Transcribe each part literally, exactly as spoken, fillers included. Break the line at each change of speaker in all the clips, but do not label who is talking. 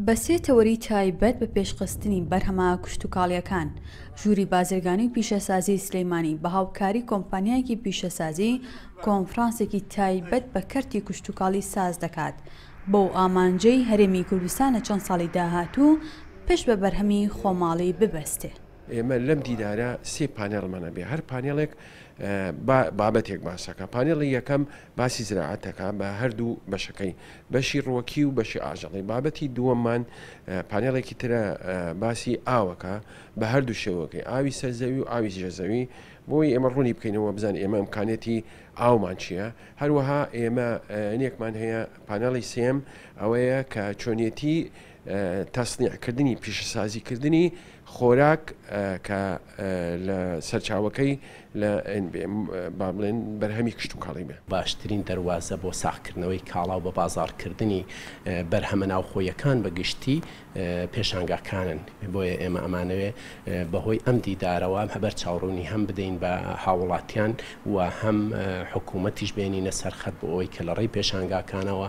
بە سێ تەوەری تایبەت بە پێشخستنی بەرهەمە کشتوکاڵیەکان، ژووری بازرگانی و پیشەسازی سلەیمانی بە هاوکاری کۆمپانیایەکی پیشەسازی کۆنفرانسێکی تایبەت بە کەرتی کشتوکاڵی ساز دەکات، بەو ئامانجەی هەرێمی کوردستان لە چەند ساڵی داهاتوو پشت بە بەرهەمی خۆماڵی ببەستێ.
ئێمە لەم دیدارە سێ پانێڵمان هەبێ، هەر پانێڵێک بابەتێک باسەکە. پانێڵی یەکەم باسی زراعەتەکە بە هەردوو بەشەکەی، بەشی ڕوەکی و بەشی ئاژەڵی. بابەتی دووەممان پانێڵێکی ترە باسی ئاوەکە بە هەردوو شێوەکەی، ئاوی سەرزەوی و ئاوی ژێرزەوی، بۆی ئێمە ڕوونی بکەینەوە بزان ئێمە ئەمکانێتی ئاومان چییە. هەروەها ئێمە نێکمان هەیە پانێڵی سێم، ئەوەیە کە چۆنیەتی تەسنیعکردنی پیشەسازیکردنی خۆراک کە لە سەرچاوەکەی لە با بڵێن بەرهەمی کشتوکاڵی بێ.
باشترین دەواازە بۆ ساخکردنەوەی کاڵا و بە بازارکردنی بەرهەمە ناوخۆیەکان بە گشتی پێشانگاکانن. بۆیە ئێمە ئەمانەوێ بەهۆی ئەم دیدارەوە هەبەر چاوڕوونی هەم بدەین بە هاوڵاتیان و هەم حکوومەتیش بێنینە سەرخەت بۆ ئەوەی کە لە ڕێی پێشانگاکانەوە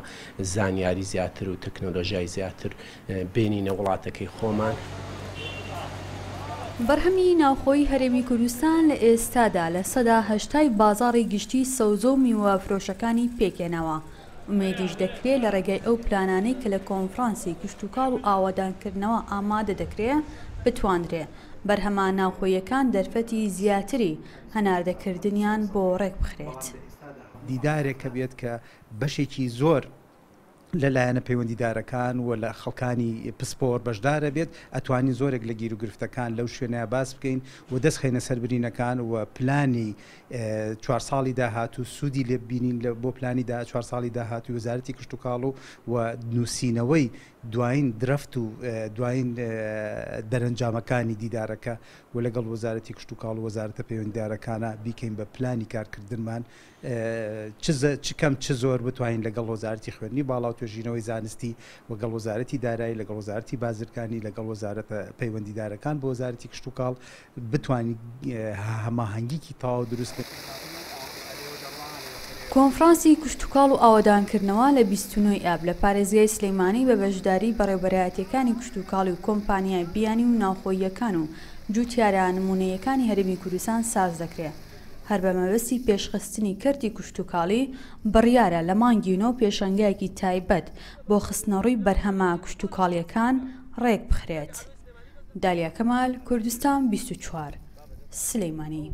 زانیاری زیاتر و تەکنۆلۆژیای زیاتر بێنینە وڵاتەکەی خۆمان.
بەرهەمی ناوخۆی هەرێمی کوردستان لە ئێستادا لە سەدا هەشتای بازاڕی گشتی سەوزە و میوە فرۆشەکانی پێکێنەوە. ئومێدیش دەکرێت لە ڕێگای ئەو پلانانەی کە لە کۆنفرانسی کشتوکاڵ و ئاوادانکردنەوە ئامادە دەکرێت بتواندرێ بەرهەمە ناوخۆیەکان دەرفەتی زیاتری هەناردەکردنیان بۆ ڕێک بخرێت.
دیدارێک کە بێت کە بەشێکی زۆر لە لایەنە پەیوەندیدارەکان و لە خەڵکانی پسپۆر بەشدارە بێت، ئەتوانین زۆرێک لە گیروگرفتەکان لەو شوێنەیە باس بکەین و دەستخەینە سەر برینەکان و پلانی چوار ساڵی داهاتوو سوودی لێ ببینین بۆ پلانی چوار ساڵی داهاتوو وەزارەتی کشتوکاڵ و نووسینەوەی دوایین درەفت و دوایین دەرەنجامەکانی دیدارەکە و لەگەڵ وەزارەتی کشتوکاڵ و وەزارەتە پەیوەندیدارەکانە بیکەین بە پلانی کارکردنمان، چ کەم چ زۆر بتوانین لەگەڵ وەزارەتی خوێندنی باڵا و توێژینەوەی زانستی وەگەڵ وەزارەتی دارایی لەگەڵ وەزارەتی بازرگانی لەگەڵ وەزارەتە پەیوەندیدارەکان بۆ وەزارەتی کشتوکاڵ بتوانین هەماهەنگیکی تەواو دروست بکەین.
کۆنفرانسی کشتوکاڵ و ئاوەدانکردنەوە لە بیست و نۆ ئاب لە پارێزگای سلەیمانی بە بەشداری بەڕێوەبەرایەتیەکانی کشتوکاڵی و کۆمپانیای بیانی و ناوخۆییەکان و جووتیارە نمونەیەکانی هەرێمی کوردستان ساز دەکرێت. هەر بە مەبەستی پێشخستنی کەرتی کشتوکاڵی بڕیارە لە مانگی نۆ پێشەنگایەکی تایبەت بۆ خستنەڕووی بەرهەمە کشتوکاڵیەکان ڕێک بخرێت. دالیا کەمال، کوردستان بیست و چوار، سلەیمانی.